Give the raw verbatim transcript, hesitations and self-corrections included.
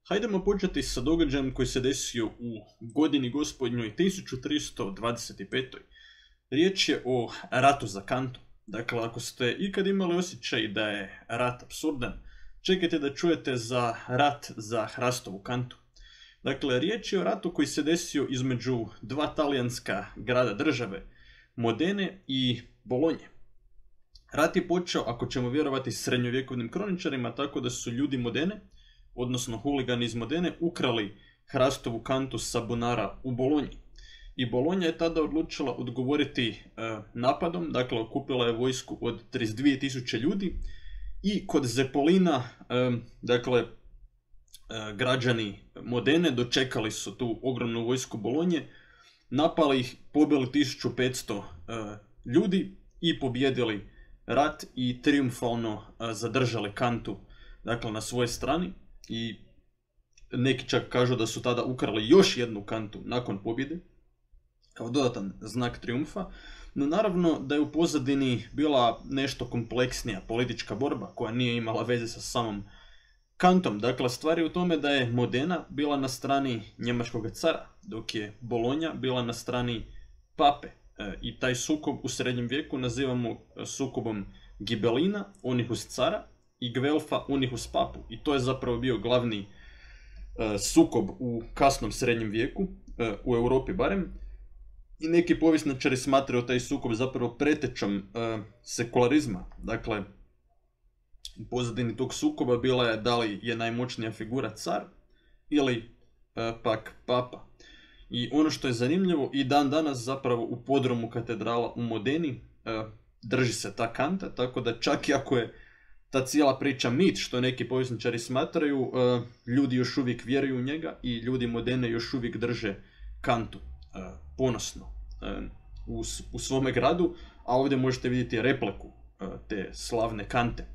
Hajdemo početi sa događajem koji se desio u godini gospodnjoj tisuću tristo dvadeset pet. Riječ je o ratu za kantu. Dakle, ako ste ikad imali osjećaj da je rat apsurdan, čekajte da čujete za rat za hrastovu kantu. Dakle, riječ je o ratu koji se desio između dva talijanska grada države, Modene i Bolonje. Rat je počeo, ako ćemo vjerovati srednjovjekovnim kroničarima, tako da su ljudi Modene, odnosno huligani iz Modene, ukrali hrastovu kantu sa bunara u Bolonji. I Bolonja je tada odlučila odgovoriti e, napadom, dakle okupila je vojsku od trideset dvije tisuće ljudi i kod Zepolina, e, dakle, e, građani Modene dočekali su tu ogromnu vojsku Bolonje, napali ih, pobili tisuću petsto e, ljudi i pobjedili rat i trijumfalno e, zadržali kantu, dakle, na svojoj strani. I neki čak kažu da su tada ukrali još jednu kantu nakon pobjede, kao dodatan znak trijumfa. No naravno da je u pozadini bila nešto kompleksnija politička borba koja nije imala veze sa samom kantom. Dakle, stvar je u tome da je Modena bila na strani njemačkog cara, dok je Bolonja bila na strani pape. E, I taj sukob u srednjem vijeku nazivamo sukobom Gibelina, onih uz cara, i Gvelfa, onih uz papu. I to je zapravo bio glavni e, sukob u kasnom srednjem vijeku, e, u Europi barem. I neki povjesničari smatraju taj sukob zapravo pretečom e, sekularizma. Dakle, u pozadini tog sukoba bila je da li je najmoćnija figura car ili e, pak papa. I ono što je zanimljivo, i dan danas zapravo u podrumu katedrala u Modeni e, drži se ta kanta, tako da čak i ako je ta cijela priča mit, što neki povjesničari smatraju, e, ljudi još uvijek vjeruju u njega i ljudi Modene još uvijek drže kantu e, ponosno e, u, u svome gradu, a ovdje možete vidjeti repliku e, te slavne kante.